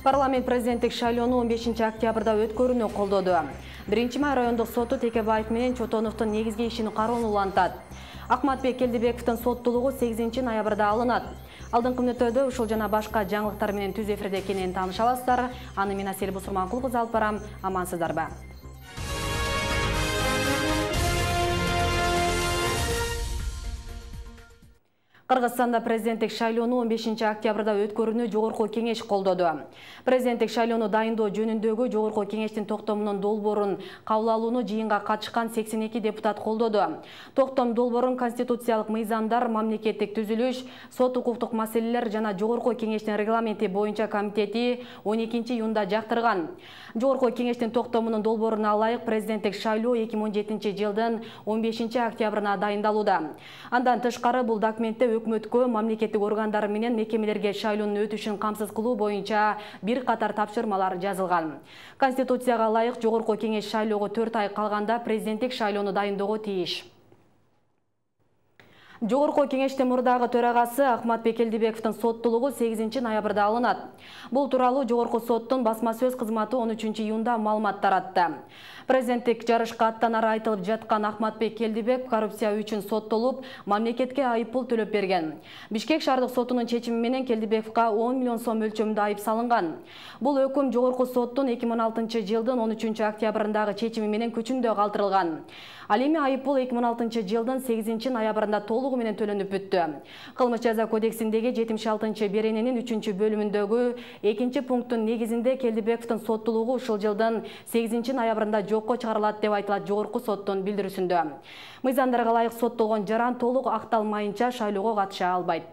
Парламент президенттик шайлоону 15 октябрда өткөрүүнү колдоду. 1-май райондук соту Текебаев менен Чотоновдун негизги ишин кароону улантат. Акматбек Келдибековдун соттуулугу 8 ноябрда алынат. Алдыңкы мүнөттөрдө ушул жана башка жаңылыктар менен түз эфирде экенин тааныша аласыздар. Аны мен Асель Бусурманкул кызы алып барам. Амансыздарбы? Кыргызстанда президенттик шайлоону 15 октябрда өткөрүүнү жогорку кеңеш колдоду. Президенттик шайлоону дайындоо жөнүндөгү жогорку кеңештин токтомунун долбоорун кабыл алууну жыйынга катышкан 82 депутат колдоду. Токтом долбоорун конституциялык мыйзамдар, мамлекеттик түзүлүш, сот укуктук маселелер жана жогорку кеңештин регламенти боюнча комитети 12 июнда жактырган. Жогорку кеңештин токтомунун долбооруна ылайык президенттик шайлоо 2017 жылдын 15 октябрына дайындалууда. Андан тышкары бул документте өкмөткө, мамлекеттик органдар менен мекемелерге шайлоонун өтүшүн камсыз кылуу боюнча бир катар тапшырмалар жазылган. Конституцияга ылайык жогорку кеңеш шайлоого 4 ай калганда президенттик шайлоону дайындоого тийиш. Жогорку кеңештин мурдагы төрагасы Акматбек Келдибековдун соттуулугу 8 ноябрда алынат. Бул тууралуу жогорку соттун басма сөз кызматы 13 июнда маалымат таратты. Президенттик жарышка аттанары айтылып жаткан Акматбек Келдибеков коррупция үчүн соттолуп, мамлекетке айыппул төлөп берген. Бишкек шаардык сотунун чечими менен Келдибековго 10 миллион сом мөлчөмүндө айып салынган. Бул өкүм жогорку соттун 2016 жылдын 13 октябрындагы чечими менен күчүндө калтырылган. Ал эми айыппул 2006 жылдын 8 ноябрында толугу менен төлөнүп бүттү. Кылмыш жаза кодексиндеги 76 берененин 3 бөлүмүндөгү 2 пункттун негизинде Келдибековдун соттуулугу ушул жылдын 8 ноябрында жокко чыгарылат деп айтылат жогорку соттун билдирүүсүндө. Мыйзамдарга ылайык соттолгон жаран толук акталмайынча шайлоого катыша албайт.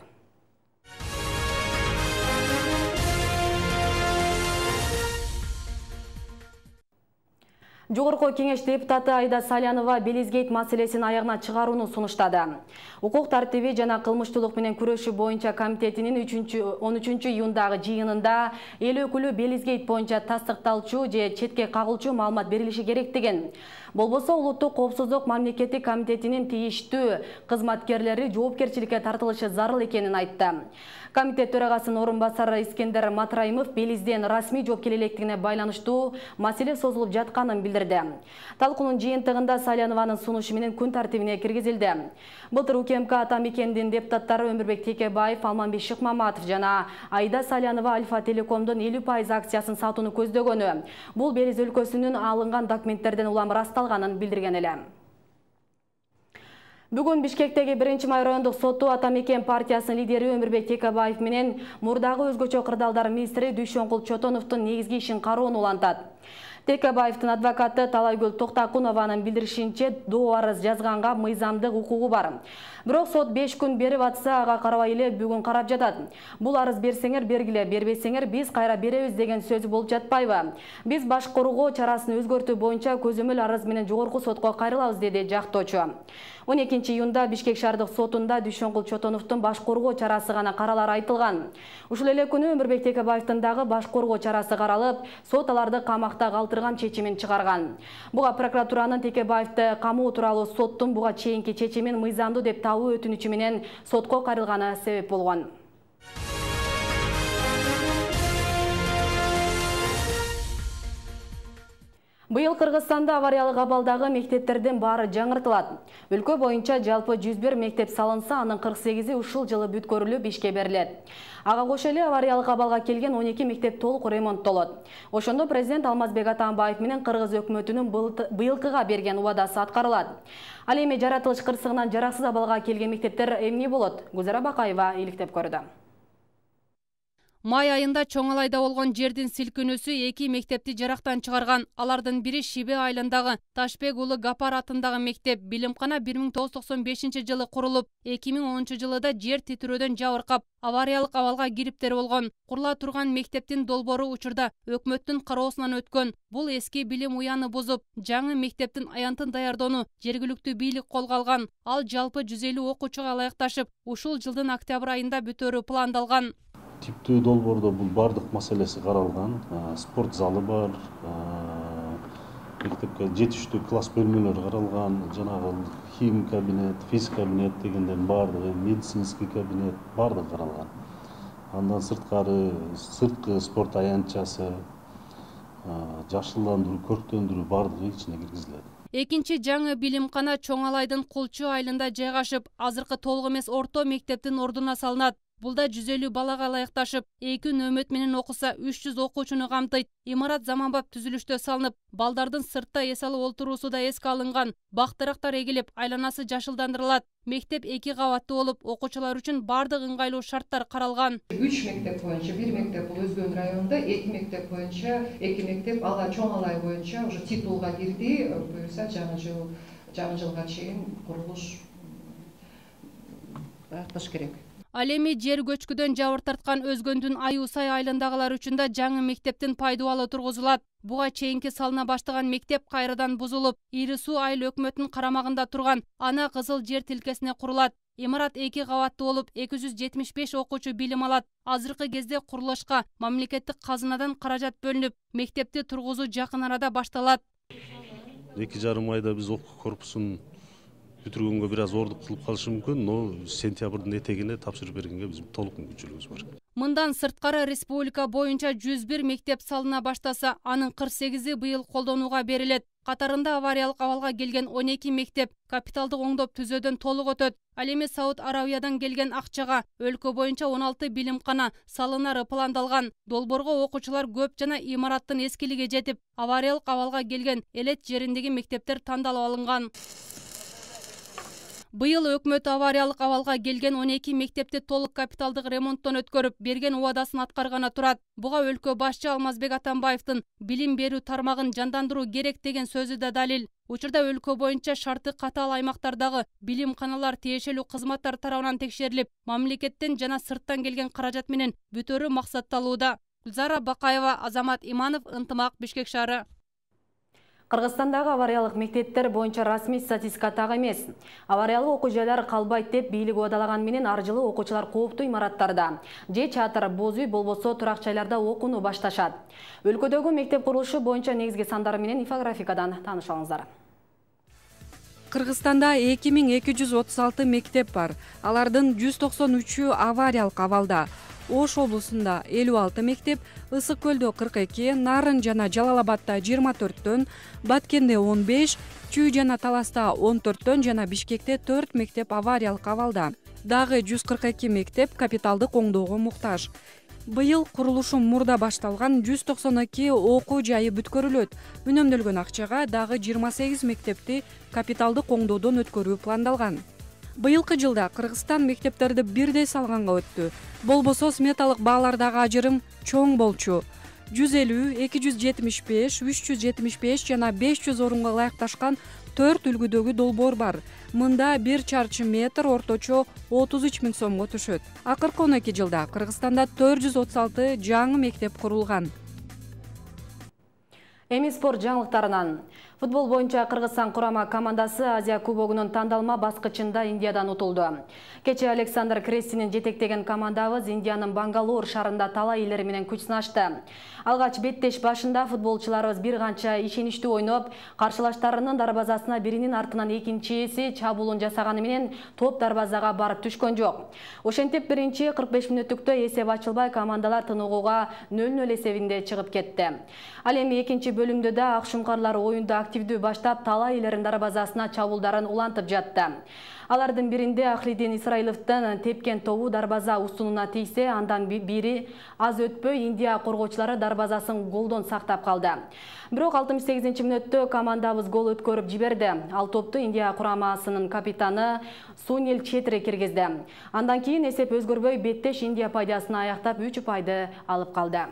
Жогорку кеңеш депутаты Айда Салянова Белизгейт маселесин аягына чыгарууну сунуштады. Укук тартиби жана кылмыштуулук менен күрөшүү боюнча комитетинин 13 июндагы жыйынында эл өкүлү Белизгейт боюнча тастыкталчу же четке кагылчу маалымат берилиши керек деген. Болбосо улуттук коопсуздук мамлекеттик комитетинин тийиштүү кызматкерлери жоопкерчиликке тартылышы зарыл экенин айтты. Комитет төрагасынын орун басары Искендер Матраимов Белизден расмий жооп келе электигине байланыштуу маселе созулуп жатканын билдирди. Талкуунун жыйынтыгында Салянованын сунушу менен күн тартибине киргизилди. Былтыр УКМК ата мекендин депутаттары Өмүрбек Текебаев, Алманбек Шыкмаматов жана Айда Салянова Альфа Телекомдун 50% акциясын сатууну көздөгөнү. Бул Белиз өлкөсүнүн алынган документтерден улам расталганын билдирген эле. Бүгүн Бишкектеги 1-май райондук соту ата мекен партиясынын лидери Өмүрбек Текебаев менен мурдагы өзгөчө кырдаалдар министри Дүйшөнкул Чотоновдун негизги ишин кароону улантат. Текебаевдин адвокаты Талайгүл Токтакунованын билдиришинче доо арыз жазганга мыйзамдык укугу бар. Бирок сот 5 күн берип атса, ага карабай эле бүгүн карап жатат. Бул арыз берсеңер бергиле, бербесеңер биз кайра беребиз деген сөз болуп жатпайбы? Биз башкаруу чарасын өзгөртүү боюнча көзөмөл арыз менен жогорку сотко кайрылабыз, деди жактоочу. 12 июнда Бишкек шаардык сотунда Дүйшөнкул Чотоновдун башкаруу чарасы гана каралары айтылган. Ушул эле күнү Өмүрбек Текебаевдин дагы башкаруу чарасы каралып, сот аларды камакта калтырган чечимин чыгарган. Буга прокуратуранын Текебаевди камоо тууралуу соттун буга чейинки чечимин мыйзамдуу деп табуу өтүнүчү менен сотко кайрылганы себеп болгон. Быйыл Кыргызстанда авариялык абалдагы мектептердин баары жаңыртылат. Өлкө боюнча жалпы 101 мектеп салынса, анын 48-и ушул жылы бүткөрүлүп ишке берилет. Ага кошо эле авариялык абалга келген 12 мектеп толук ремонттолот. Ошондо президент Алмазбек Атамбаев менен Кыргыз өкмөтүнүн быйылкыга берген убадасы аткарылат. Ал эми жаратылыш кырсыгынан жараксыз абалга келген мектептер эмне болот? Гүзара Бакаева иликтеп көрдү. Май айында Чоңалайда болгон жердин силкинүүсү 2 мектепти жарактан чыгарган. Алардын бири Шибе айылындагы Ташбек уулу Гапар атындагы мектеп. Билимкана 1995 жылы курулуп, 2010 жылыда жер титирөөдөн жабыркап, авариялык абалга кириптер болгон. Курула турган мектептин долбоору учурда өкмөттүн кароосунан өткөн. Бул эски билим уяны бузуп, жаңы мектептин аянтын даярдоону жергиликтүү бийлик колго алган. Ал жалпы 150 окуучуга ылайыкташып, ушул жылдын октябрь айында бүтөөрү пландалган. Типтүү долбоордо бул бардык маселеси каралган. Спорт залы бар, мектепке жетиштүү класс бөлмөлөрү каралган, жанагы хим кабинет, физик кабинет дегендердин бардыгы, медицинский кабинет бардыгы каралган. Андан сырткы спорт аянтчасы, жашылдандыруу, көрктөндүрүү бардыгы ичине киргизилет. Экинчи жаңы билимкана Чоң Алайдын Кулчу айылында жайгашып, азыркы толук эмес орто мектептин ордуна салынат. Булда 150 балага ылайыкташып, 2 нөмөт менен окуса 300 окуучуну камтыйт. Имарат заманбап түзүлүштө салынып, балдардын сыртта эс алып олтуруусу да эске алынган. Бак-дарактар эгилип, айланасы жашылдандырылат. Мектеп 2 кабаттуу болуп, окуучулар үчүн бардык ыңгайлуу шарттар каралган. 3 мектеп боюнча, 1 мектеп бул Өзгөн районунда, 2 мектеп боюнча, 2 мектеп ала Чоң Алай боюнча уже титулга кирди. Буюрса жаңы жылга чейин курулуш аякташ керек. Ал эми жер көчкүдөн жабыр тарткан Өзгөндүн Аюусай айылындагылар үчүн да жаңы мектептин пайдубалы тургузулат. Буга чейинки салына баштаган мектеп кайрадан бузулуп, Ири Суу айыл өкмөтүнүн карамагында турган Ана Кызыл жер тилкесине курулат. Имарат 2 кабаттуу болуп, 275 окуучу билим алат. Азыркы кезде курулушка мамлекеттик казынадан каражат бөлүнүп, мектепти тургузуу жакын арада башталат. 2,5 айда биз окуу корпусун бүтүргөнгө бир аз оорлук кылып калышы мүмкүн, но сентябрдын этегине тапшырып бергенге биздин толук мүмкүнчүлүгүбүз бар. Мындан сырткары республика боюнча 101 мектеп салына баштаса, анын 48-и быйыл колдонууга берилет. Катарында авариялык абалга келген 12 мектеп капиталдык оңдоп түзөөдөн толук өтөт. Ал эми Сауд Арабиядан келген акчага өлкө боюнча 16 билимкана салынары пландалган. Долбоорго окуучулар көп жана имараттын эскилиги жетип, авариялык абалга келген элет жериндеги мектептер тандалып алынган. Быйыл өкмөт авариялык абалга келген 12 мектепти толук капиталдык ремонттон өткөрүп, берген убадасын аткарганы турат. Буга өлкө башчы Алмазбек Атамбаевдин билим берүү тармагын жандандыруу керек деген сөзү да далил. Учурда өлкө боюнча шарты катаал аймактардагы билимканалар тиешелүү кызматтар тарабынан текшерилип, мамлекеттен жана сырттан келген каражат менен бүтөрүү максатталууда. Гүлзара Бакаева, Азамат Иманов, Ынтымак, Бишкек шаары. Кыргызстандагы авариялык мектептер боюнча расмий статистика так эмес. Авариялык окуу жайлар калбайт деп бийлик убадалаган менен ар жылы окуучулар кооптуу имараттарда же чатыр, боз үй болбосо турак жайларда окууну башташат. Өлкөдөгү мектеп курулушу боюнча негизги сандар менен инфографикадан таанышып алыңыздар. Кыргызстанда 2236 мектеп бар. Алардын 193-ü авариялык абалда. Ош облусунда 56 мектеп, Ысык көлдө 42, Нарын жана Жалал Абадда 24төн, Баткенде 15, Чүй жана Таласта 14төн жана Бишкекте 4 мектеп авариялык абалда. Дагы 142 мектеп капиталдык оңдоого муктаж. Быйыл курулушу мурда башталган 192 окуу жайы бүткөрүлөт. Үнөмдөлгөн акчага дагы 28 мектепти капиталдык оңдоодон өткөрүү пландалган. Быйылкы жылда Кыргызстан мектептерди бирдей салганга өттү. Болбосо сметалык баалардагы ажырым чоң болчу. 150, 275, 375 жана 500 орунга ылайыкташкан 4 үлгүдөгү долбоор бар. Мында 1 чарчы метр орточо 33 000 сомго түшөт. Акыркы 12 жылда Кыргызстанда 436 жаңы мектеп курулган. Эми спорт жаңылыктарынан. Футбол боюнча Кыргызстан курама командасы Азия кубогунун тандалма баскычында Индиядан утулду. Кече Александр Крестинин жетектеген командабыз Индиянын Бангалор шаарында талай элери менен күч сынашты. Алгач беттеш башында футболчуларыбыз бир канча ишеничтүү ойноп, каршылаштарынын дарбазасына биринин артынан экинчиси чабуулун жасаганы менен топ дарбазага барып түшкөн жок. Ошентип биринчи 45 мүнөттүктө эсеп ачылбай командалар тыныгууга 0-0 эсебинде чыгып кетти. Ал эми экинчи бөлүмдө да ак шуңкарлар оюнду активдүү баштап талай элерин дарбазасына чабуулдарын улантып жатты. Алардын биринде Ахлидин Исраиловдун тепкен тобу дарбаза устунуна тийсе, андан бири аз өтпөй Индия коргоочулары дарбазасын голдон сактап калды. Бирок 68 мүнөттө командабыз гол өткөрүп жиберди. Ал топту Индия курамасынын капитаны Сунил Четри киргизди. Андан кийин эсеп өзгөрбөй беттеш Индия пайдасына аяктап 3 упайды алып калды.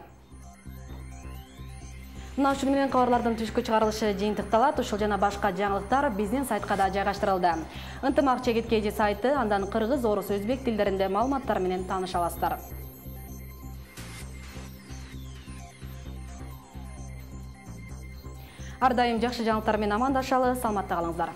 Мына ушун менен кабарлардын түшкү чыгарылышы жыйынтыкталат. Ушул жана башка жаңылыктар биздин сайтка да жайгаштырылды. Ынтымак чегиткеji сайты, андан кыргыз, орус, өзбек тилдеринде маалыматтар менен тааныша аласыздар. Ар дайым жакшы жаңылыктар менен амандашалы, саламатта калыңыздар.